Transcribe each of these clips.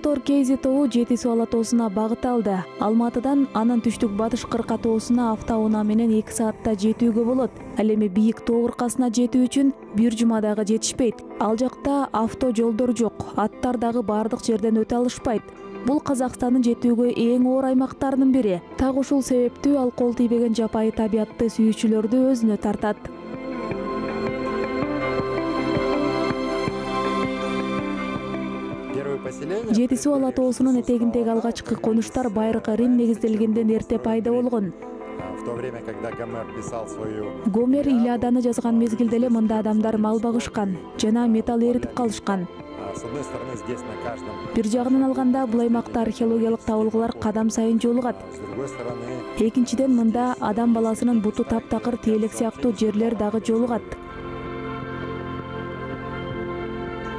Мотор Кейзи тобу Жети суу ала тоосуна багыт алды. Алматыдан анын түштүк батыш кырка тоосуна автоунаа менен 2 саатта жетүүгө болот. Ал эми бийик тоо кыркасына жетүү үчүн бир жума дагы жетишпейт. Ал жакта авто жолдор жок, аттар дагы бардык жерден өтө алышпайт. Бул Казакстандын жетүүгө эң оор аймактарынын бири. Так ушул себептүү ал кол тийбеген жапайы табиятты сүйүүчүлөрдү өзүнө тартат. Жети суу ала тоосунун этегиндеги алгачкы конуштар Байыркы Рим негизделгенден эрте пайда болгон. Гомер Илиаданы жазган мезгилде эле мында адамдар мал багышкан жана металл эритип калышкан. Бир жагынан алганда бул аймакта археологиялык табылгылар кадам сайын жолугат. Экинчиден мында адам баласынын буту таптакыр теелек сыяктуу жерлер дагы жолугат.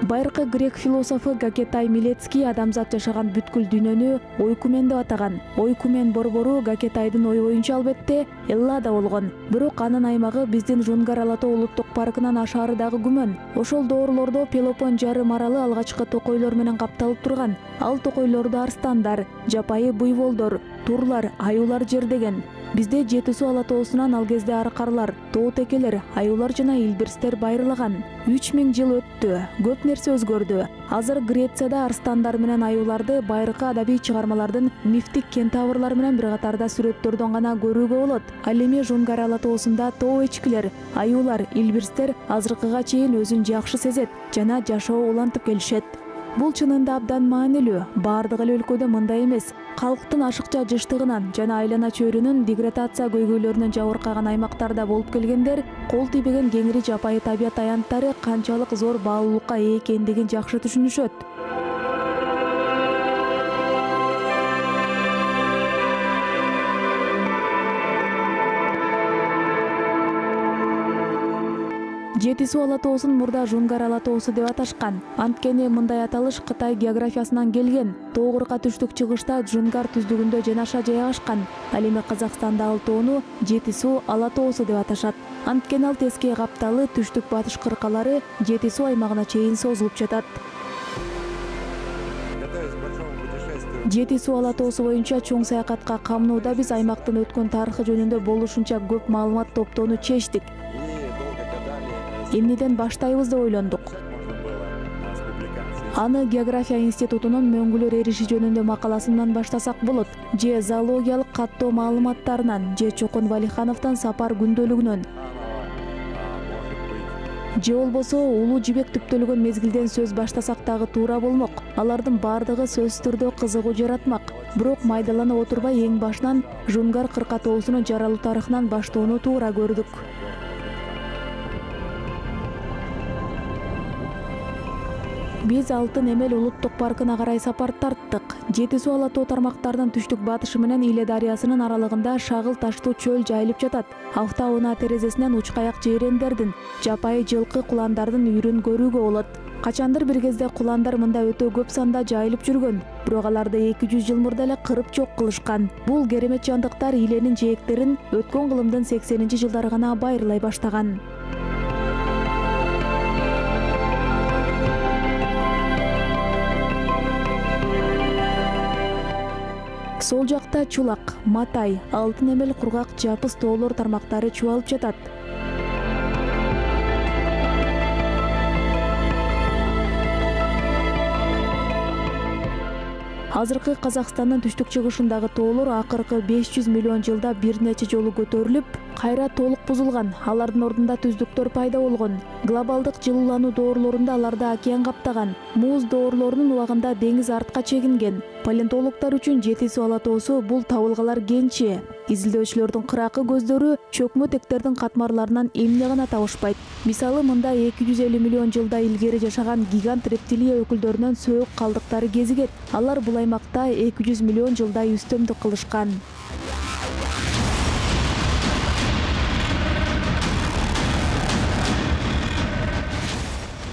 Байыркы грек философу Гакетай Милецкий адамзат жашаган бүткүл дүйнөнү ойкумен деп атаган. Ойкумен борбору Гакетайдын ою боюнча албетте Эллада болгон. Бирок анын аймагы биздин Жунгар ала тоо улуттук паркынан ашаары дагы күмөн. Ошол доорлордо Пелопон жарым аралы алгачкы токойлор менен капталып турган. Ал токойлорду арстандар, жапайы буйволдор, турлар, аюулар жердеген. Бизде Жети суу ала тоосунан ал кезде аркарлар, тоо текелер, аюулар жана илбирстер байырлаган. 3000 жыл өттү, көп нерсе өзгөрдү. Азыр Грецияда арстандар менен аюуларды байыркы адабий чыгармалардын мифтик кентаврлар менен бир катарда сүрөттөрдөн гана көрүүгө болот. Ал эми Жунгар ала тоосунда тоо эчкилер, аюулар, илбирстер азыркыга чейин өзүн жакшы сезет жана жашоо улантып келишет. Бул чынында абдан маанилүү. Бардык эле өлкөдө мындай эмес. Калктын ашыкча жыштыгынан жана айлана чөйрөнүн деградация көйгөйлөрүнөн жабыркаган аймактарда болуп келгендер кол тийбеген кеңири жапайы табият аянттары канчалык зор баалуулукка ээ экендигин жакшы түшүнүшөт. Жети суу ала тоосун мурда Жунгар ала тоосу деп аташкан. Анткени мындай аталыш Кытай географиясынан келген. Тоо кырка түштүк чыгышта Жунгар түздүгүндө жанаша жайгашкан. Ал эми Казакстанда ал тоону Жети суу ала тоосу деп аташат. Анткени ал теске капталы түштүк батыш кыркалары Жети суу аймагына чейин созулуп жатат. Жети суу ала тоосу боюнча чоң саякатка камнууда биз аймактын өткөн тарыхы жөнүндө болушунча көп маалымат топтоону чечтик. Эмнеден баштайбыз деп ойлондук. Аны география институтунун мөңгүлөр эриши жөнүндө макаласынан баштасак болот. Же зоологиялык каттоо маалыматтарынан, же Чокон Валихановдун сапар күндөлүгүнөн. Же болбосо улуу жибек түптөлгөн мезгилден сөз баштасак дагы туура болмок. Алардын бардыгы сөзсүз түрдө кызыгуу жаратмак. Бирок майдалана отурбай эң башынан Жунгар кырка тоосунун жаралуу тарыхынан баштоону туура көрдүк. Биз Алтын Эмел улуттук паркына карай сапар тарттык. Жети суу ала тоо тармактарынын түштүк батышы менен Иле дарыясынын аралыгында шагыл таштуу чөл жайылып жатат. Автоунаа терезесинен учкаяк жейрендердин, жапайы жылкы куландардын үйрүн көрүүгө болот. Качандыр бир кезде куландар мында өтө көп санда жайылып жүргөн, бирок аларды 200 жыл мурда эле кырып жок кылышкан. Бул керемет жандыктар Иленин жээктерин өткөн кылымдын 80-жылдары гана байырлай баштаган. Сол жакта Чулак, Матай, Алтын Эмел, Кургак, Жапыс тоолор тармактары чубалып жатат. Азыркы Казакстандын түштүк чыгышындагы тоолор акыркы 500 миллион жылда бир нече жолу көтөрүлүп, кайра толук бузулган. Алардын ордунда түздүктөр пайда болгон. Глобалдык жылуулануу доорлорунда аларды океан каптаган. Муз доорлорунун убагында деңиз артка чегинген. Палеонтологдор үчүн Жети суу ала тоосу бул табылгалар кенчи. Изилдөөчүлөрдүн кыракы көздөрү чөкмө тектердин катмарларынан эмне гана табышпайт. Мисалы, мында 250 миллион жылда илгери жашаган гигант рептилия өкүлдөрүнүн сөөк калдыктары кезигет. Алар бул аймакта 200 миллион жылдай үстөмдүк кылышкан.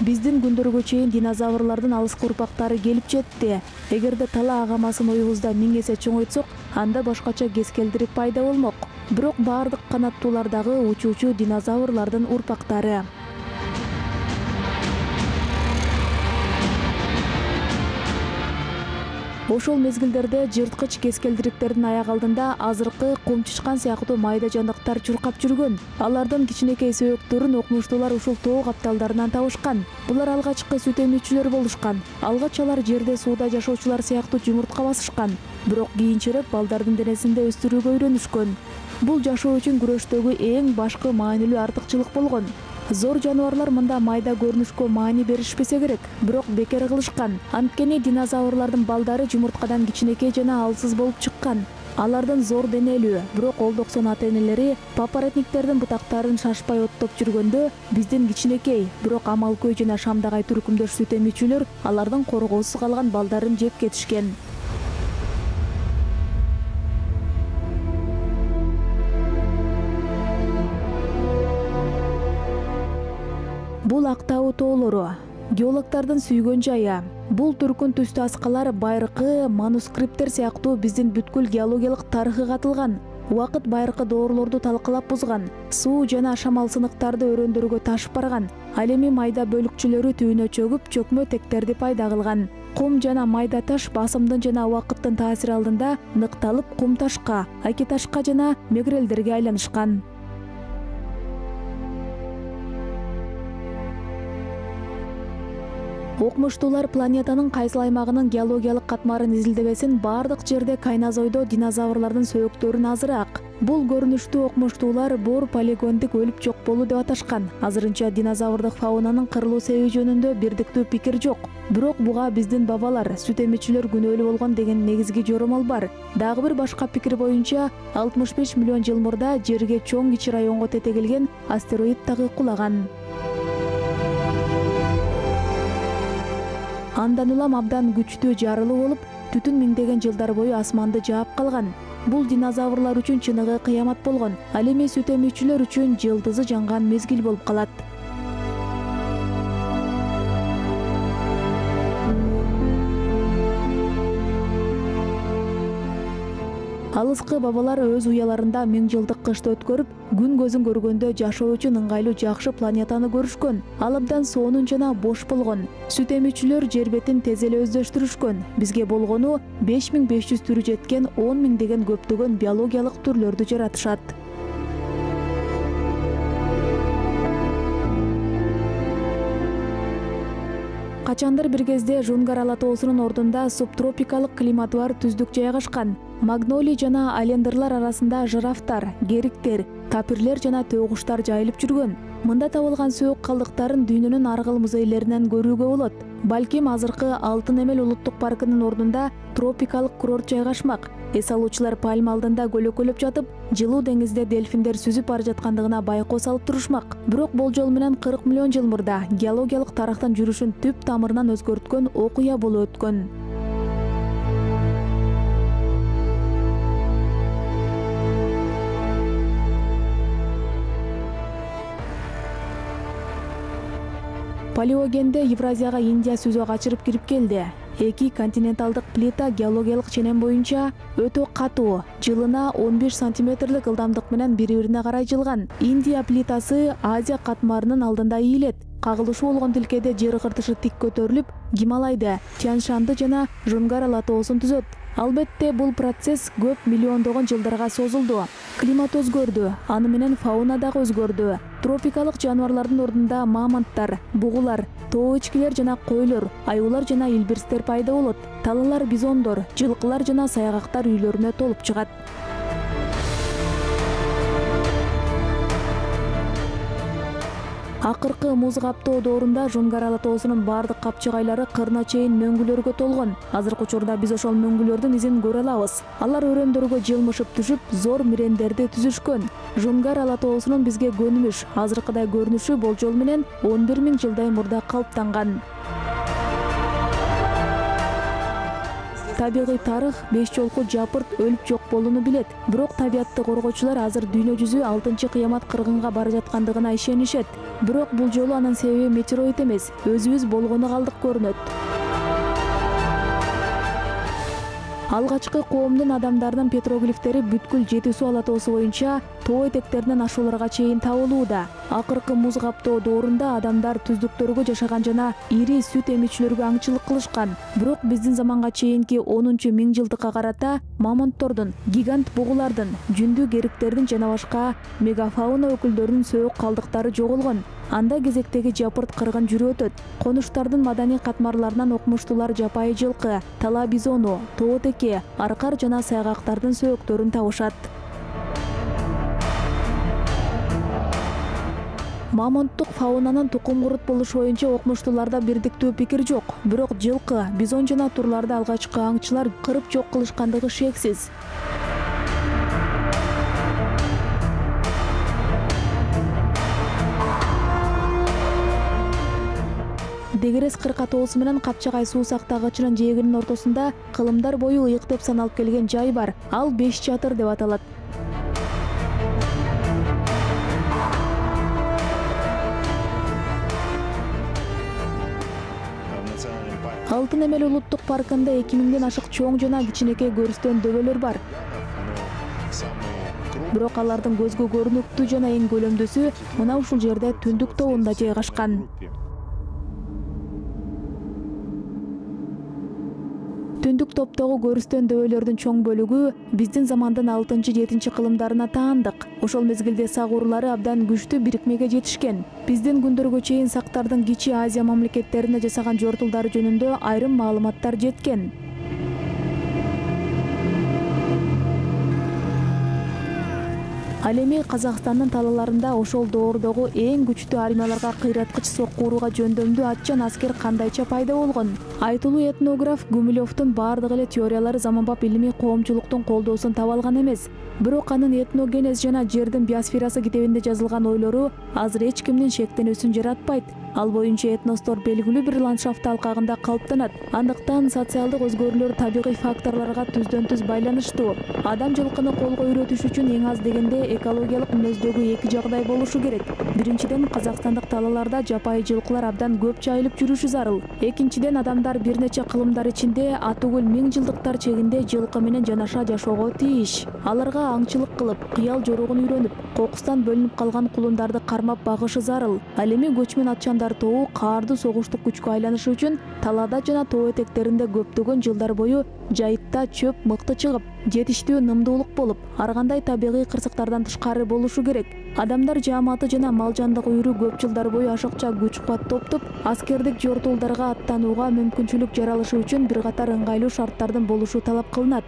Биздин күндөргө чейин динозаврлардын алыскы урпактары келип жетти. Эгерде тала агамасын оюбузда 1000 эсе чоңойтсок, анда башкача кескелдири пайда болмок. Бирок бардык канаттуулар дагы учуучу динозаврлардын урпактары. Ошол мезгилдерде жырткыч кескелдириктердин аяк алдында азыркы кумчучкан сыяктуу майда жандыктар чуркап жүргөн. Алардын кичинекей сөөктөрүн окумуштуулар ушул тоо капталдарынан табышкан. Булар алгачкы сүт эмүүчүлөр болушкан. Алгач алар жерде сууда жашоочулар сыяктуу жумуртка басышкан. Бирок кийинчерээк балдардын денесинде өстүрүүгө үйрөнүшкөн. Бул жашоо үчүн күрөштөгү эң башкы маанилүү артыкчылык болгон. Зор жаныбарлар мында майда көрүнүшкө маани беришпесе керек, бирок бекер кылышкан. Анткени динозаврлардын балдары жумурткадан кичинекей жана алсыз болуп чыккан. Алардын зор денелүү, бирок олдоксон ата-энелери папоротниктердин бутактарын шашпай оттоп жүргөндө, биздин кичинекей, бирок амалкөй жана шамдагай түркүмдөш сүт эмүүчүлөр алардын коргоосуз калган балдарын жеп кетишкен. Бул Актау тоолору, геологдордун сүйгөн жайы. Бул түркүн түстүү аскалар байыркы манускриптер сыяктуу биздин бүткүл геологиялык тарыхы катылган. Убакыт байыркы доорлорду талкалап бузган, суу жана шамал сыныктарды өрөөндөргө ташып барган. Ал эми майда бөлүкчөлөрү түбүнө чөгүп, чөкмө тектерди пайда кылган. Кум жана майда таш басымдын жана убакыттын таасири алдында ныкталып кум ташка, аки ташка жана мегрелдерге айланышкан. Окумуштуулар планетанын кайсыл аймагынын геологиялык катмарын изилдебесин бардык жерде кайназойдо динозаврлардын сөөктөрүн азыраак. Бул көрүнүштү окумуштуулар бор полигондук өлүп жок болуу деп аташкан. Азырынча динозаврдык фаунанын кырылуу себеби жөнүндө бирдиктүү пикир жок. Бирок буга биздин бабалар, сүт эмүүчүлөр күнөөлүү болгон деген негизги жоромол бар. Дагы бир башка пикир боюнча 65 миллион жыл мурда жерге чоң кичи районго тетегелген астероид дагы кулаган. Андан улам абдан күчтүү жарылуу болуп, түтүн миңдеген жылдар бою асманды жаап калган. Бул динозаврлар үчүн чыныгы кыямат болгон. Ал эми сүт эмүүчүлөр үчүн жылдызы жанган мезгил болуп калат. Алыскы бабалар өз уяларында 1000 жылдык кышты өткөрүп, күн көзүн көргөндө жашоо үчүн ыңгайлуу жакшы планетаны көрүшкөн. Ал абдан сонун жана бош болгон. Сүт эмүүчүлөр жер бетин тез эле өздөштүрүшкөн. Бизге болгону 5500 түрү жеткен 10 миңдеген көптөгөн биологиялык түрлөрдү жаратышат. Качандыр бир кезде Жунгарала тоосунун ордунда субтропикалык климаты бар түздүк жайгашкан. Магнолий жана алендрлар арасында жирафтар, гериктер, тапирлер жана төөгуштар жайылып жүргөн. Мында табылган сөөк калдыктарын дүйнөнүн ар кыл музейлеринен көрүүгө болот. Балким азыркы Алтын эмел улуттук паркынын ордунда тропикалык курорт жайгашмак. Эс алуучулар пальма алдында көлөкөлөп жатып, жылуу деңизде дельфиндер сүзүп бара жаткандыгына байкоо салып турушмак. Бирок болжол менен 40 миллион жыл мурда геологиялык тарыхтын жүрүшүн түп тамырынан өзгөрткөн окуя болуп өткөн. Палеогенде Евразияга Индия сүзү качырып кирип келди. Эки континенталдык плита геологиялык ченем боюнча өтө катуу, жылына 15 сантиметрлик ылдамдык менен бири-бирине карай жылган. Индия плитасы Азия катмарынын алдында ийилет. Кагылышуу болгон тилкеде жер кыртышы тик көтөрүлүп, Гималайды, Тянь-Шанды жана Жунгарала тоосун түзөт. Албетте бул процесс көп миллиондогон жылдарга созулду. Климат өзгөрдү, аны менен фауна дагы өзгөрдү. Тропикалык жаныбарлардын ордунда мамонттар, бугулар, тоо ичкилер жана койлор, аюулар жана илбирстер пайда болот. Талалар, бизондор, жылкылар жана саягактар үйлөрүнө толуп чыгат. Акыркы муз каптоо доорунда Жунгарала тоосунун бардык капчыгайлары кырына чейин мөңгүлөргө толгон. Азыркы учурда биз ошол мөңгүлөрдүн изин көрө алабыз. Алар өрөөндөргө жылмышып түшүп, зор мирендерди түзүшкөн. Жунгарала тоосунун бизге көнүмүш, азыркыдай көрүнүшү болжол менен 11 000 жылдай мурда калыптанган. Табигый тарых беш жолку жапырт өлүп жок болууну билет. Бирок табиатты коргоочулар азыр дүйнө жүзү 6-кыямат кыргынга бара жаткандыгына ишенишет. Бирок бул жолу анын себеби метеороид эмес, өзүбүз болгону калдык көрүнөт. Алгачкы коомдун адамдарынын петроглифтери бүткүл Жети суу ала тоосу боюнча тоо этектеринен ашууларга чейин табылууда. Акыркы муз каптоо доорунда адамдар түздүктөргө жашаган жана ири сүт эмичүлөргө аңчылык кылышкан. Бирок биздин заманга чейинки 10-миңжылдыкка карата мамонттордун, гигант бугулардын, жүндү кериктердин жана башка мегафауна өкүлдөрүнүн сөөк калдыктары жоголгон. Анда кезектеги жапырт кыргын жүрүп өтөт. Конуштардын маданий катмарларынан окумуштуулар жапайы жылкы, тала бизону, тоо теке, аркар жана сайгактардын сөөктөрүн табышат. Мамонттук фаунанын тукум курут болушу боюнча окумуштууларда бирдиктүү пикир жок. Бирок жылкы, бизон жана турларды алгачкы аңчылар кырып жок кылышкандыгы шексиз. Дегерес кыркатоосу менен Капчагай суу сактагычынын жээгинин ортосунда кылымдар бою ыйык деп саналып келген жай бар. Ал 5 чатыр деп аталат. Алтын эмел улуттук паркында 2000ден ашык чоң жана кичинекей көрүстөн дөбөлөр бар. Бирок алардын көзгө көрүнүктүү жана эң көлөмдүүсү мына ушул жерде Түндүк тобунда жайгашкан. Түндүк топтогу көрүстөн дөбөлөрдүн чоң бөлүгү биздин замандын 6-7 кылымдарына таандык. Ошол мезгилде сак уруулары абдан күчтүү бирикмеге жетишкен. Биздин күндөргө чейин сактардын кичи Азия мамлекеттерине жасаган жортулдары жөнүндө айрым маалыматтар жеткен. Ал эми Казакстандын талааларында ошол доордогу эң күчтүү армияларга кыйраткыч сокку урууга жөндөмдүү атчан аскер кандайча пайда болгон? Айтылуу этнограф Гумилевдун бардык эле теориялары заманбап илимий коомчулуктун колдоосун таба алган эмес. Бирок анын этногенез жана жердин биосферасы китебинде жазылган ойлору азыр эч кимдин шектенүүсүн жаратпайт. Ал боюнча этностор белгилүү бир ландшафт алкагында калыптанат. Андыктан социалдык өзгөрүүлөр табигый факторлорго түздөн-түз байланыштуу. Адам жылкыны колго үйрөтүш үчүн эң аз дегенде экологиялык мүнөздөгү 2 жагдай болушу керек. Биринчиден, казакстандык талааларда жапайы жылкылар абдан көп жайылып жүрүшү зарыл. Экинчиден, адамдар бир нече кылымдар ичинде атүгүл миңжылдыктар чегинде жылкы менен жанаша жашоого тийиш. Аларга аңчылык кылып, кыял жоругун үйрөнүп, кокустан бөлүнүп калган кулундарды кармап багышы зарыл. Ал эми көчмөн атчандар тобу каардуу согуштук күчкө айланышы үчүн талаада жана тоо этектеринде көптөгөн жылдар бою жайытта чөп мыкты чыгып, жетиштүү нымдуулук болуп, ар кандай табигый кырсыктардан тышкары болушу керек. Адамдар жааматы жана мал жандык үйрү көп жылдар бою ашыкча күч-кубат топтоп, аскердик жортуулдарга аттанууга мүмкүнчүлүк жаралышы үчүн бир катар ыңгайлуу шарттардын болушу талап кылынат.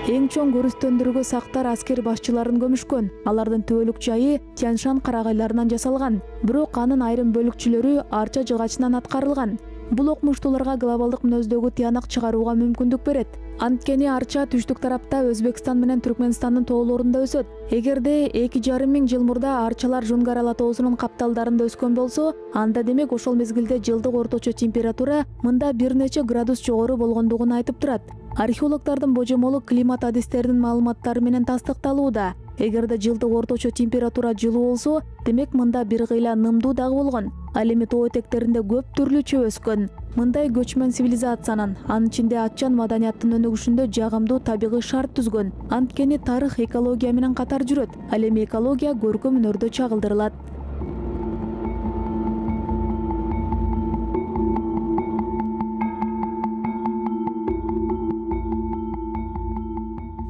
Эң чоң көрүстөндөргө сактар аскер башчыларын көмүшкөн. Алардын түбөлүк жайы Тянь-Шань карагайларынан жасалган. Бирок анын айрым бөлүкчүлөрү арча жыгачынан аткарылган. Бул окумуштууларга глобалдык мүнөздөгү тыянак чыгарууга мүмкүндүк берет. Анткени арча түштүк тарапта Өзбекстан менен Түркмөнстандын тоолорунда өсөт. Эгерде 2,5 миң жыл мурда арчалар Жунгар ала тоосунун капталдарында өскөн болсо, анда демек ошол мезгилде жылдык орточо температура мында бир нече градус жогору болгондугун айтып турат. Археологдордун божомолу климат адистеринин маалыматтары менен тастыкталууда. Эгерде жылдык орточо температура жылуу болсо, демек мында бир кыйла нымдуу дагы болгон. Ал эми тоо этектеринде көп түрлүү чөп өскөн. Мындай көчмөн цивилизациянын, анын ичинде атчан маданияттын өнүгүшүндө жагымдуу табигый шарт түзгөн. Анткени тарых экология менен катар жүрөт. Ал эми экология көркөм өнөрдө чагылдырылат.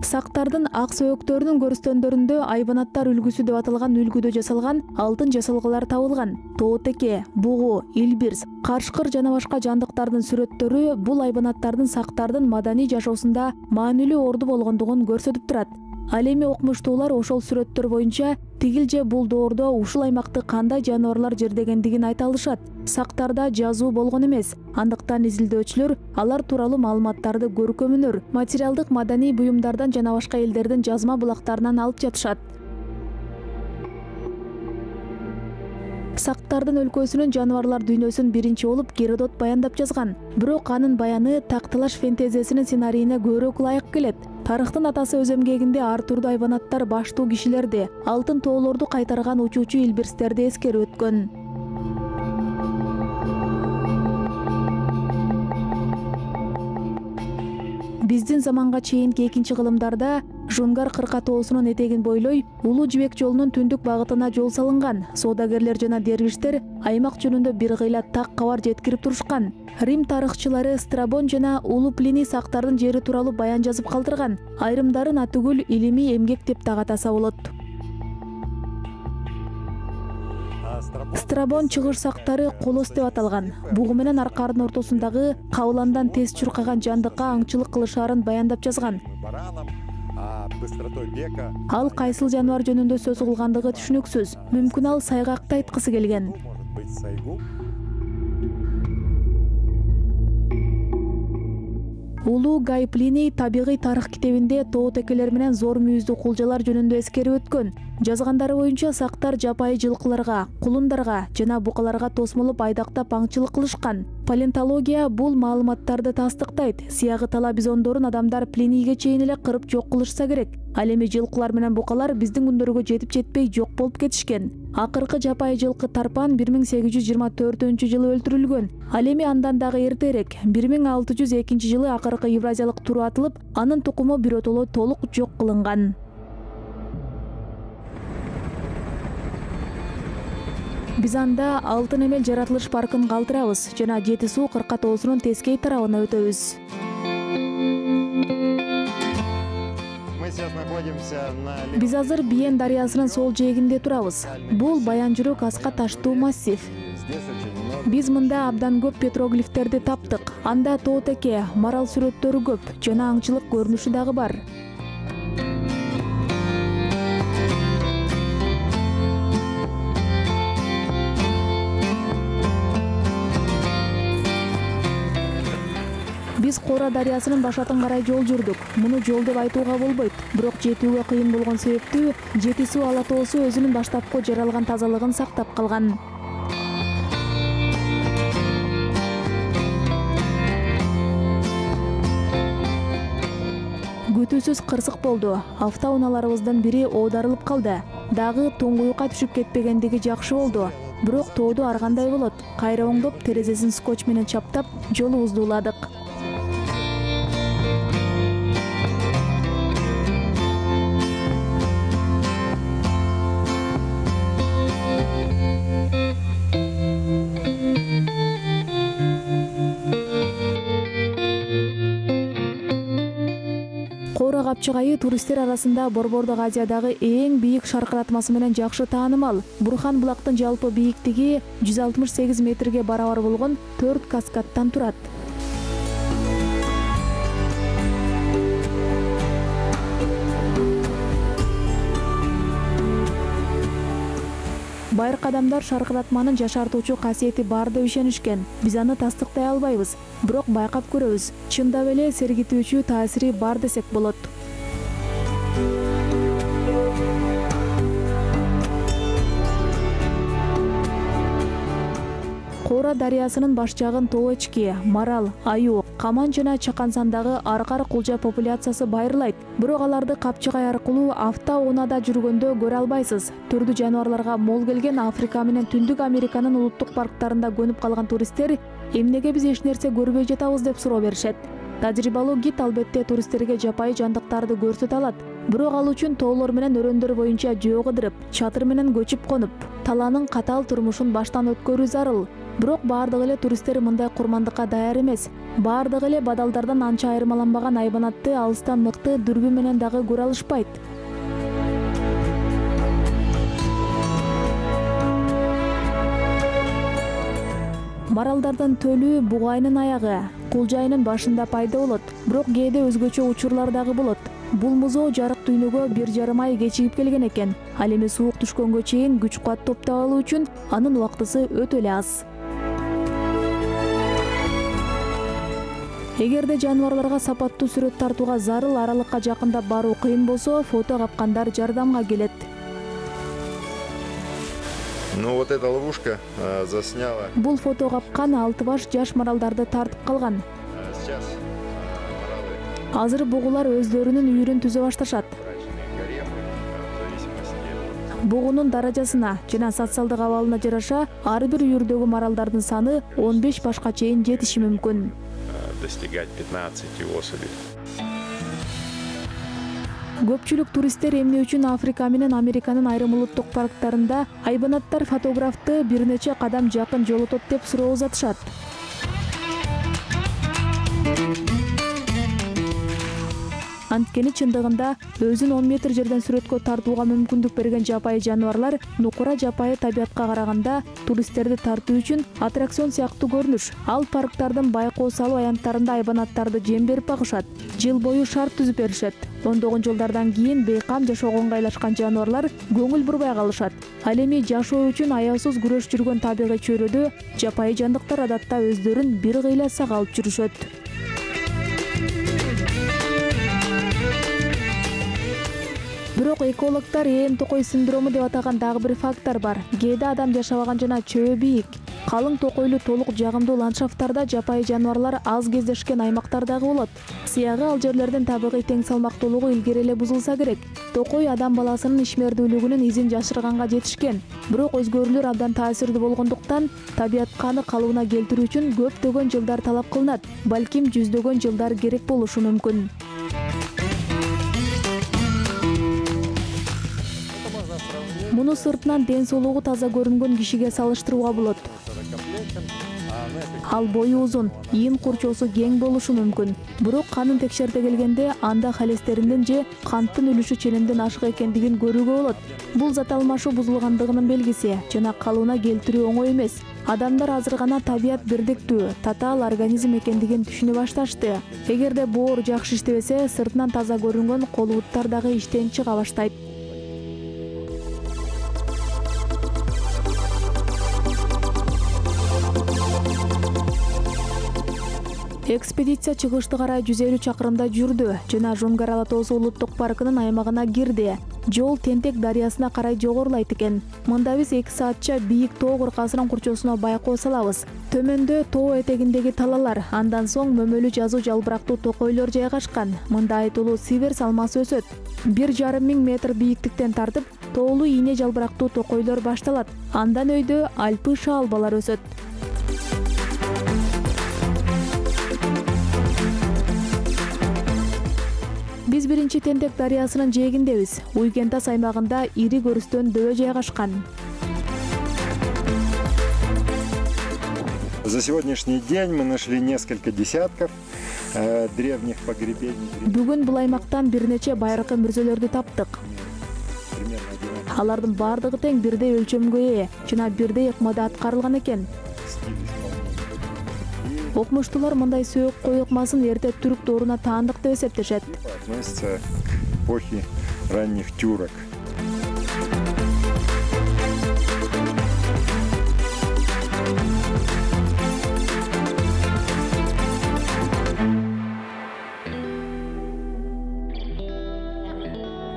Сактардын ак сөөктөрүнүн көрүстөндөрүндө айбанаттар үлгүсү деп аталган үлгүдө жасалган алтын жасалгалар табылган. Тоо теке, бугу, илбирс, карышкыр жана башка жандыктардын сүрөттөрү бул айбанаттардын сактардын маданий жашоосунда маанилүү орду болгондугун көрсөтүп турат. Ал эми окумуштуулар ошол сүрөттөр боюнча тигил же бул доордо ушул аймакты кандай жаныбарлар жердегендигин айта алышат. Сактарда жазуу болгон эмес. Андыктан изилдөөчүлөр алар тууралуу маалыматтарды көркөм өнөр, материалдык маданий буюмдардан жана башка элдердин жазма булактарынан алып жатышат. Сактардын өлкөсүнүн жаныбарлар дүйнөсүн биринчи болуп Геродот баяндап жазган. Бирок анын баяны такталаш фэнтезиясынын сценарийине көбүрөөк ылайык келет. Тарыхтын атасы өз эмгегинде ар түрдүү айбанаттар, баштуу кишилерди, алтын тоолорду кайтарган учуучу илбирстерди эскерип өткөн. Биздин заманга чейинки экинчи кылымдарда Жунгар кырка тоосунун этегин бойлой Улуу Жибек жолунун түндүк багытына жол салынган. Соодагерлер жана дервиштер аймак жөнүндө бир кыйла так кабар жеткирип турушкан. Рим тарыхчылары Страбон жана Улуу Плиний сактардын жери тууралуу баян жазып калтырган. Айрымдарын атүгүл илимий эмгек деп так атаса болот. Страбон чыгыш сактары колос деп аталган. Бугу менен аркардын ортосундагы кабыландан тез чуркаган жандыкка аңчылык кылышаарын баяндап жазган. Ал кайсыл жаныбар жөнүндө сөз кылгандыгы түшүнүксүз. Мүмкүн ал сайгакты айткысы келген. Улуу Гай Плиний табигый тарых китебинде тоо текелер менен зор мүйүздүү кулжалар жөнүндө эскерип өткөн. Жазгандары боюнча сактар жапайы жылкыларга, кулундарга жана букаларга тосмолоп айдактап аңчылык кылышкан. Палеонтология бул маалыматтарды тастыктайт. Сыягы тала бизондорун адамдар Плинийге чейин эле кырып жок кылышса керек. Ал эми жылкылар менен букалар биздин күндөргө жетип жетпей жок болуп кетишкен. Акыркы жапайы жылкы Тарпан 1824-жылы өлтүрүлгөн. Ал эми андан дагы эртерээк 1602-жылы акыркы евразиялык туру атылып, анын тукуму биротоло толук жок кылынган. Биз анда Алтын эмел жаратылыш паркын калтырабыз жана Жети суу кырка тоосунун тескей тарабына өтөбүз. Биз азыр Биен дарыясынын сол жээгинде турабыз. Бул Баян жүрөк аска таштуу массив. Биз мында абдан көп петроглифтерди таптык. Анда тоо теке, марал сүрөттөрү көп жана аңчылык көрүнүшү дагы бар. Биз Кора дарыясынын башатын карай жол жүрдүк. Муну жол деп айтууга болбойт. Бирок жетүүгө кыйын болгон себептүү Жети суу ала тоосу өзүнүн баштапкы жаралган тазалыгын сактап калган. Күтүүсүз кырсык болду. Автоунааларыбыздын бири оодарылып калды. Дагы туңгуюкка түшүп кетпегендиги жакшы болду. Бирок тоодо ар кандай болот. Кайра оңдоп, терезесин скотч менен чаптап, жолубузду уладык. Кора капчыгайы туристтер арасында Борбордук Азиядагы эң бийик шаркыратмасы менен жакшы таанымал. Бурхан булактын жалпы бийиктиги 168 метрге барабар болгон 4 каскадтан турат. Байыркы адамдар шаркыратманын жашартуучу касиети бар деп ишенишкен. Биз аны тастыктай албайбыз, бирок байкап көрөбүз. Чындап эле сергитүүчү таасири бар десек болот. Кора дарыясынын баш жагын тоо эчки, марал, аюу, каман жана чакан сандагы аркар кулжа популяциясы байырлайт. Бирок аларды капчыгай аркылуу автоунаада жүргөндө көрө албайсыз. Түрдүү жаныбарларга мол келген Африка менен Түндүк Американын улуттук парктарында көнүп калган туристтер эмнеге биз эч нерсе көрбөй жатабыз деп суроо беришет. Тажрыйбалуу гид албетте туристтерге жапайы жандыктарды көрсөтө алат. Бирок ал үчүн тоолор менен өрөндөр боюнча жөө кыдырып, чатыр менен көчүп конуп, талаанын катаал турмушун баштан өткөрүү зарыл. Бирок баардык эле туристтер мындай курмандыкка даяр эмес. Баардык эле бадалдардан анча айырмаланбаган айбанатты алыстан мыкты дүрбү менен дагы көрө алышпайт. Маралдардын төлү бугайнын аягы, кулжайынын башында пайда болот, бирок кээде өзгөчө учурлар дагы болот. Бул музоо жарык дүйнөгө 1,5 ай кечигип келген экен. Ал эми суук түшкөнгө чейин күч-кубат топтоп алуу үчүн анын убактысы өтө эле аз. Эгерде жаныбарларга сапаттуу сүрөт тартууга зарыл аралыкка жакындап баруу кыйын болсо, фото капкандар жардамга келет. Ну вот эта ловушка засняла. Бул фото капкан 6 баш жаш маралдарды тартып калган. Сейчас маралы Азыр бугулар өздөрүнүн үйүрүн түзө башташат. брачные гаремы, в зависимости Бугунун даражасына жана социалдык абалына жараша ар бир үйүрдөгү маралдардын саны 15 башка чейин жетиши мүмкүн. достигать 15 особей. Көпчүлүк туристтер эмне үчүн Африка менен Американын айрым улуттук парктарында айбанаттар фотографты бир нече кадам жакын жолотот деп суроо узатышат. Анткени чындыгында өзүн 10 метр жерден сүрөткө тартууга мүмкүндүк берген жапайы жаныбарлар нукура жапайы табиятка караганда туристтерди тартуу үчүн аттракцион сыяктуу көрүнүш. Ал парктардын байкоо салуу аянттарында айбанаттарды жем берип багышат. Жыл бою шарт түзүп беришет. Ондогон жылдардан кийин бейкам жашоого ыңгайлашкан жаныбарлар көңүл бурбай калышат. Ал эми жашоо үчүн аяусуз күрөш жүргөн табигый чөйрөдө жапайы жандыктар адатта өздөрүн бир кыйла сагалып жүрүшөт. Бирок экологдор ээн токой синдрому деп атаган дагы бир фактор бар. Кээде адам жашабаган жана чөбү бийик, калың токойлуу толук жагымдуу ландшафттарда жапайы жаныбарлар аз кездешкен аймактар дагы болот. Сыягы ал жерлердин табигый тең салмактуулугу илгери эле бузулса керек. Токой адам баласынын ишмердүүлүгүнүн изин жашырганга жетишкен. Бирок өзгөрүүлөр абдан таасирдүү болгондуктан табиятка аны калыбына келтирүү үчүн көптөгөн жылдар талап кылынат. Балким жүздөгөн жылдар керек болушу мүмкүн. Муну сыртынан ден соолугу таза көрүнгөн кишиге салыштырууга болот. Ал бою узун, ийин курчоосу кең болушу мүмкүн. Бирок канын текшерте келгенде анда холестериндин же канттын үлүшү ченемден ашык экендигин көрүүгө болот. Бул зат алмашуу бузулгандыгынын белгиси жана калыбына келтирүү оңой эмес. Адамдар азыр гана табият бирдиктүү, татаал организм экендигин түшүнө башташты. Эгерде боор жакшы иштебесе, сыртынан таза көрүнгөн кол буттар дагы иштен чыга баштайт. Экспедиция чыгышты карай 150 чакырымда жүрдү жана Жонгар Ала тоосу улуттук паркынын аймагына кирди. Жол Тентек дарыясына карай жогорулайт экен. Мында биз 2 саатча бийик тоо кыркасынын курчоосуна байкоо салабыз. Төмөндө тоо этегиндеги талалар, андан соң мөмөлүү жазуу жалбырактуу токойлор жайгашкан. Мында айтылуу сиверс алмасы өсөт. 1,5 миң метр бийиктиктен тартып, тоолуу ийне жалбырактуу токойлор башталат. Андан өйдө альпы шаалбалар өсөт. Биз биринчи Тентек дарыясынын жээгиндебиз. Уйгентас аймагында ири көрүстөн дөбө жайгашкан. За сегодняшний день мы нашли несколько десятков древних погребений. Бүгүн бул аймактан бир нече байыркы мүрзөлөрдү таптык. Алардын бардыгы тең бирдей өлчөмгө ээ жана бирдей ыкмада аткарылган экен. Окумуштуулар мындай сөөк кой ыкмасын эрте түрк дооруна таандык деп эсептешет. Относится к эпохе ранних тюрок.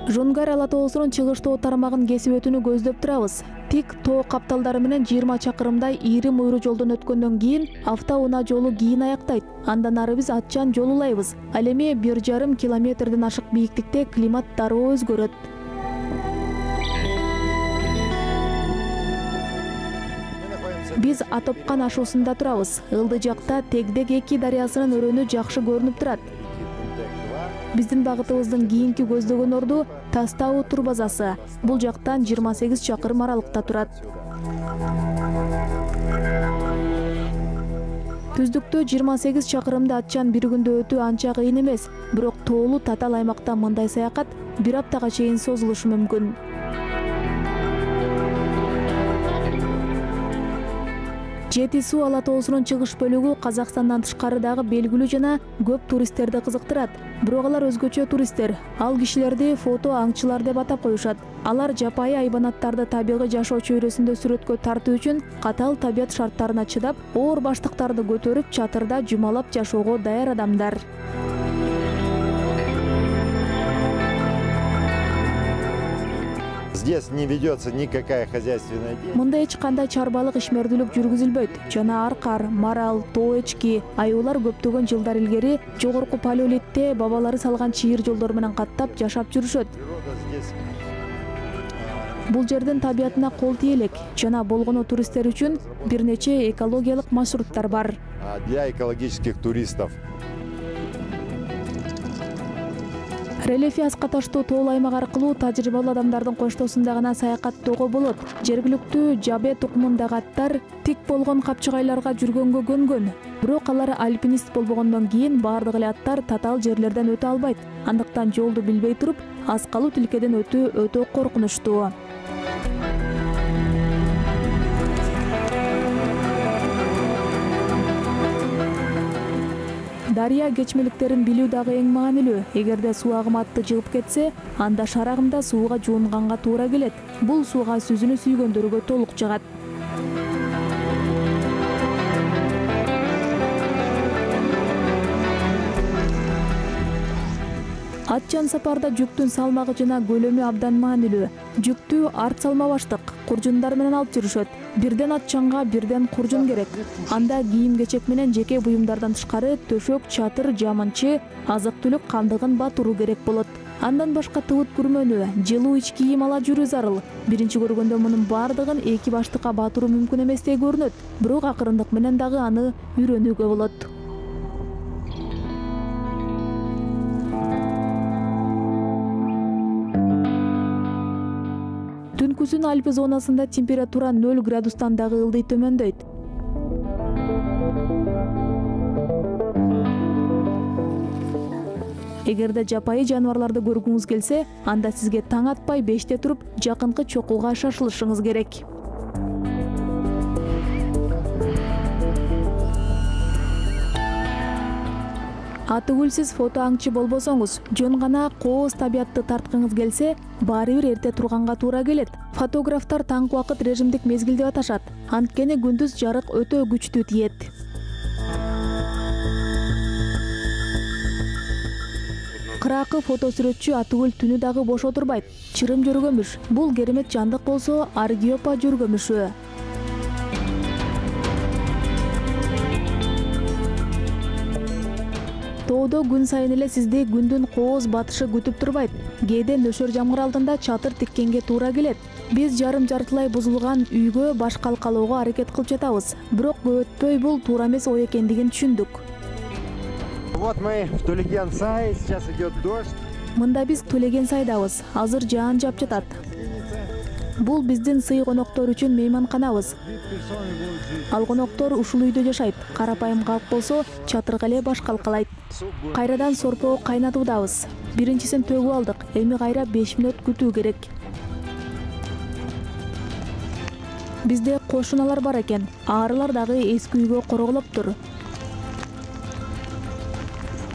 Жонгар Ала тоосунун чыгыш тоо тармагын кесип өтүүнү көздөп турабыз. Тик тоо капталдары менен 20 чакырымдай ири муйру жолдон өткөндөн кийин автоунаа жолу кийин аяктайт. Андан ары биз атчан жол улайбыз. Ал эми 1,5 километрден ашык бийиктикте климат дароо өзгөрөт. Биз Атопкан ашуусунда турабыз. Ылды жакта Тегдек 2 дарыясынын өрөөнү жакшы көрүнүп турат. Биздин багытыбыздын кийинки көздөгөн орду Тастау тур базасы. Бул жактан 28 чакырым аралыкта турат. Түздүктө 28 чакырымды атчан бир күндө өтүү анча кыйын эмес, бирок тоолуу татаал аймакта мындай саякат 1 аптага чейин созулушу мүмкүн. Жети суу Ала тоосунун чыгыш бөлүгү Казакстандан тышкары дагы белгилүү жана көп туристтерди кызыктырат. Бирок алар өзгөчө туристтер. Ал кишилерди фото аңчылар деп атап коюшат. Алар жапайы айбанаттарды табигый жашоо чөйрөсүндө сүрөткө тартуу үчүн катаал табият шарттарына чыдап, оор баштыктарды көтөрүп чатырда жумалап жашоого даяр адамдар. Здесь не ведется никакая хозяйственная деятельность. Мында эч кандай чарбалык ишмердүүлүк жүргүзүлбөйт жана аркар, марал, тоо эчки, аюулар көптөгөн жылдар илгери жогорку палеолитте бабалары салган чыйыр жолдор менен каттап жашап жүрүшөт. Природа здесь Бул жердин табиятына кол тийелек жана болгону туристтер үчүн бир нече экологиялык маршруттар бар. для экологических туристов. Рельефи аска таштуу тоол аймак аркылуу тажрыйбалуу адамдардын коштоосунда гана саякаттоого болот. Жергиликтүү жабе тукумундагы аттар тик болгон капчыгайларга жүргөнгө көнгөн. Бирок алар альпинист болбогондон кийин баардык эле аттар татаал жерлерден өтө албайт. Андыктан жолду билбей туруп, аскалуу тилкеден өтүү өтө коркунучтуу. Дарыя кечмеликтерин билүү дагы эң маанилүү. Эгерде суу агымы атты жыгып кетсе, анда шарагында сууга жуунганга туура келет. Бул сууга сүзүүнү сүйгөндөргө толук жагат. Атчан сапарда жүктүн салмагы жана көлөмү абдан маанилүү. Жүктү арт салма баштык куржундар менен алып жүрүшөт. Бирден атчанга, бирден куржун керек. Анда кийим-кечек менен жеке буюмдардан тышкары төшөк, чатыр, жамынчы, азык-түлүк кандыгын батыруу керек болот. Андан башка тыбыт күрмөнү, жылуу ич кийим ала жүрүү зарыл. Биринчи көргөндө мунун баардыгын эки баштыкка батыруу мүмкүн эместей көрүнөт, бирок акырындык менен дагы аны үйрөнүүгө болот. Түнкүсүн Альпи зонасында температура 0 градустан дагы ылдый төмөндөйт. Эгерде жапайы жаныбарларды көргүңүз келсе, анда сизге таң атпай 5те туруп, жакынкы чокууга шашылышыңыз керек. Атыгүлсүз фото аңчы болбосоңуз, жөн гана кооз табиятты тарткыңыз келсе, баары бир эрте турганга туура келет. Фотографтар таңкы убакыт режимдик мезгил деп аташат. Анткени күндүз жарык өтө күчтүү тиет. Кыракы фото сүрөтчү Атыгүл түнү дагы бош отурбайт. Чырым жөргөмүш. Бул керемет жандык болсо, Аргиопа жөргөмүшү. Тоодо күн сайын эле сизди күндүн кооз батышы күтүп турбайт. Кээде нөшөр жамгыр алдында чатыр тиккенге туура келет. Биз жарым-жартылай бузулган үйгө баш калкалоого аракет кылып жатабыз. Бирок көп өтпөй бул туура эмес ой экендигин түшүндүк. Вот мы в Тулеген-Сай, сейчас идет дождь. Мында биз Тулеген-Сайдабыз. Азыр жаан жап жатат. Бул биздин сый коноктор үчүн мейманканабыз. Ал коноктор ушул үйдө жашайт. Карапайым калк болсо, чатырга эле баш калкалайт. Кайрадан сорпо кайнатуудабыз. Биринчисин төгүп алдык. Эми кайра 5 мүнөт күтүү керек. Бизде кошуналар бар экен. Аарылар дагы эски үйгө короголоптур.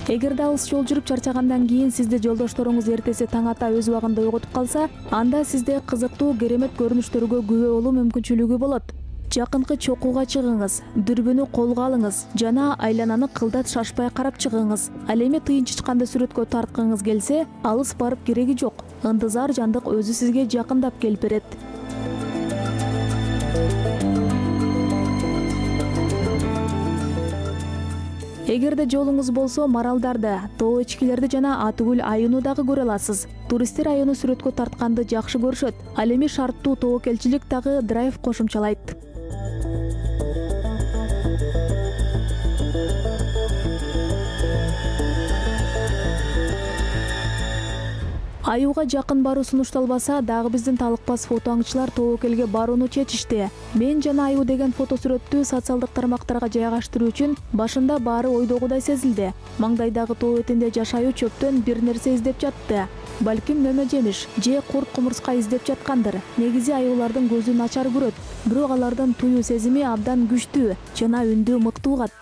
Эгерде алыс жол жүрүп чарчагандан кийин сизди жолдошторуңуз эртеси таң ата өз убагында ойготуп калса, анда сизде кызыктуу керемет көрүнүштөргө күбө болуу мүмкүнчүлүгү болот. Жакынкы чокууга чыгыңыз, дүрбүнү колго алыңыз жана айлананы кылдат шашпай карап чыгыңыз. Ал эми тыйын чычканды сүрөткө тарткыңыз келсе, алыс барып кереги жок. Ындызар жандык өзү сизге жакындап келип берет. Эгерде жолуңуз болсо, маралдарды, тоо эчкилерди жана Атыгүл айыны дагы көрө аласыз. Туристтер айыны сүрөткө тартканды жакшы көрүшөт. Ал эми шарттуу тобокелчилик дагы драйв кошумчалайт. Аюуга жакын баруу сунушталбаса, дагы биздин талыкпас фото аңчылар тобокелге барууну чечишти. Мен жана аюу деген фото сүрөттү социалдык тармактарга жайгаштыруу үчүн башында баары ойдогудай сезилди. Маңдайдагы тоо этинде жашайуу чөптөн бир нерсе издеп жатты. Балким мөмө жемиш же курт кумурска издеп жаткандыр. Негизи аюулардын көзү начар көрөт, бирок алардын туюу сезими абдан күчтүү жана үндү мыкты угат.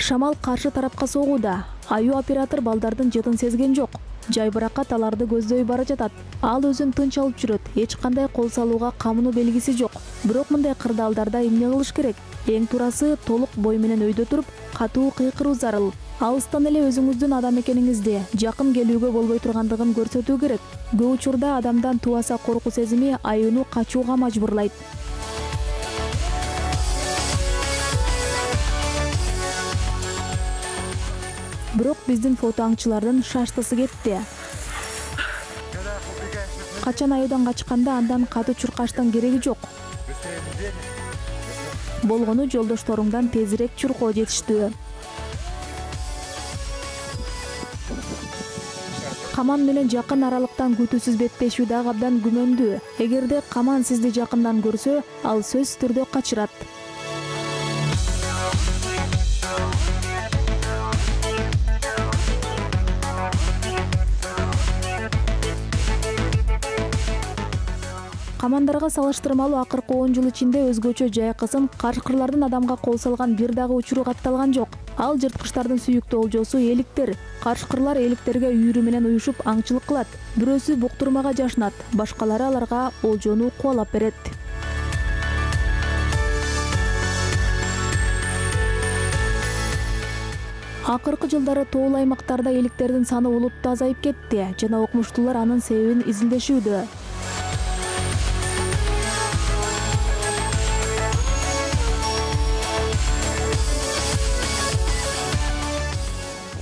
Шамал каршы тарапка согууда. Аюу оператор балдардын жытын сезген жок. Жайбыракат аларды көздөй бара жатат. Ал өзүн тынч алып жүрөт. Эч кандай кол салууга камынуу белгиси жок. Бирок мындай кырдаалдарда эмне кылыш керек? Эң туурасы толук бой менен өйдө туруп, катуу кыйкыруу зарыл. Алыстан эле өзүңүздүн адам экениңизди, жакын келүүгө болбой тургандыгын көрсөтүү керек. Көп учурда адамдан тубаса коркуу сезими аюуну качууга мажбурлайт. Бирок биздин фото аңчылардын шаштысы кетти. Качан аюудан качканда андан катуу чуркаштын кереги жок. Болгону жолдошторуңдан тезирээк чуркоо жетиштүү. Каман менен жакын аралыктан күтүүсүз беттешүү дагы абдан күмөндүү. Эгерде каман сизди жакындан көрсө, ал сөзсүз түрдө качырат. Камандарга салыштырмалуу акыркы 10 жыл ичинде өзгөчө жайкысым кашкырлардын адамга кол салган бир дагы учуру катталган жок. Ал жырткычтардын сүйүктүү олжосу эликтер. Кашкырлар эликтерге үйрү менен уюшуп аңчылык кылат. Бирөөсү буктурмага жашынат, башкалары аларга олжону кубалап берет. Акыркы жылдары тоол аймактарда эликтердин саны улуттуу азайып кетти жана окумуштуулар анын себебин изилдешүүдө.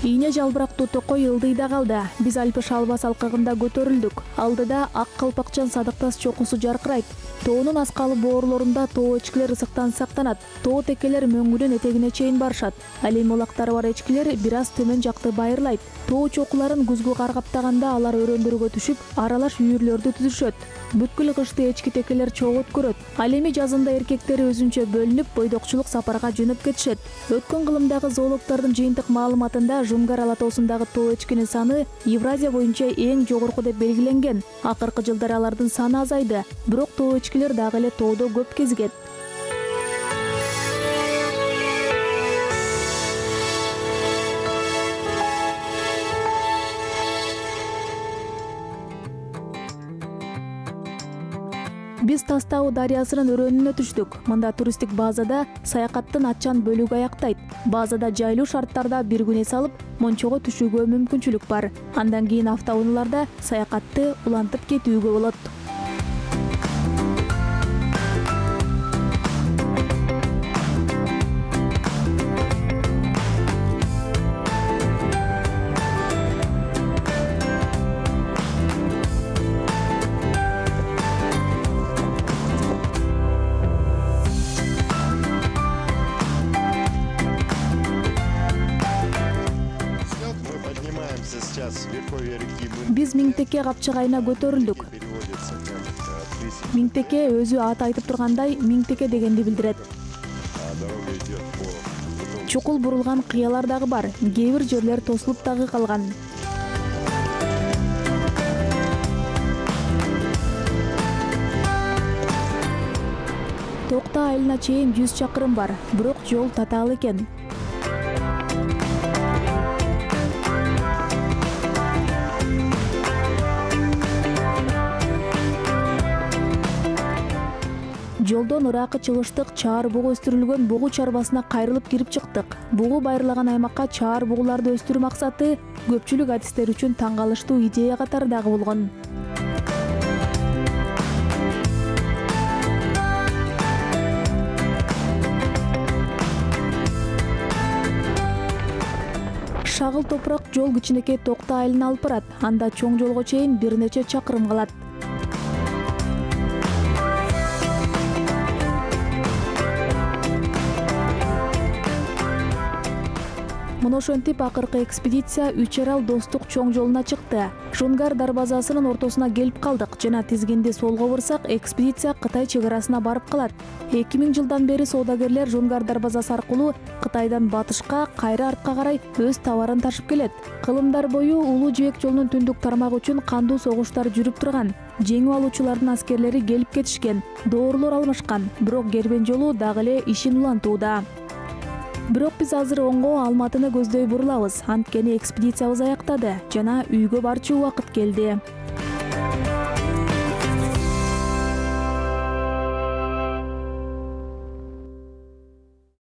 Ийне жалбырактуу токой ылдыйда калды. Биз Альпы шалба салкыгында көтөрүлдүк. Алдыда ак калпакчан садыктас чокусу жаркырайт. Тоонун аскалы боорлорунда тоо эчкилер ысыктан сактанат. Тоо текелер мөңгүдөн этегине чейин барышат. Ал эми улактары бар эчкилер бир аз төмөн жакты байырлайт. Тоо чокуларын күзгү кар каптаганда алар өрөөндөргө түшүп, аралаш үйүрлөрдү түзүшөт. Бүткүл кышты эчки текелер чогуу өткөрөт. Ал эми жазында эркектери өзүнчө бөлүнүп, бойдокчулук сапарга жөнөп кетишет. Өткөн кылымдагы зоологдордун жыйынтык маалыматында Жунгар алатоосундагы тоо эчкинин саны Евразия боюнча эң жогорку деп белгиленген. Акыркы жылдары алардын саны азайды, бирок тоо эчкилер дагы эле тоодо көп кезигет. Биз Тас Тау дарыясынын өрөөнүнө түштүк. Мында туристтик базада саякаттын атчан бөлүгү аяктайт. Базада жайлуу шарттарда бир күн эс алып, Мончого түшүүгө мүмкүнчүлүк бар. Андан кийин автоунааларда саякатты улантып кетүүгө болот. Биз Миңтеке капчыгайына көтөрүлдүк. Миңтеке өзү аты айтып тургандай Миңтеке дегенди билдирет. Чукул бурулган кыялар дагы бар, кээ бир жерлер тосулуп дагы калган. Токто айылына чейин 100 чакырым бар, бирок жол татаал экен. Жолдон ыракы чыгыштык чаар бугу өстүрүлгөн бугу чарбасына кайрылып кирип чыктык. Бугу байырлаган аймакка чаар бугуларды өстүрүү максаты көпчүлүк адистер үчүн таң калыштуу идея катары дагы болгон. Шагыл топурак жол кичинекей Токто айылына алып барат. Анда чоң жолго чейин бир нече чакырым калат. Мына ошентип акыркы экспедиция Үч Арал достук чоң жолуна чыкты. Жунгар дарбазасынын ортосуна келип калдык жана тизгинди солго бурсак, экспедиция Кытай чек арасына барып калат. 2000 жылдан бери соодагерлер Жунгар дарбазасы аркылуу Кытайдан батышка, кайра артка карай өз товарын ташып келет. Кылымдар бою Улуу Жибек жолунун түндүк тармагы үчүн кандуу согуштар жүрүп турган. Жеңип алуучулардын аскерлери келип кетишкен, доорлор алмашкан, бирок Кербен жолу дагы эле ишин улантууда. Бирок биз азыр оңго Алматыны көздөй бурулабыз. Анткени экспедициябыз аяктады жана үйгө барчу убакыт келди.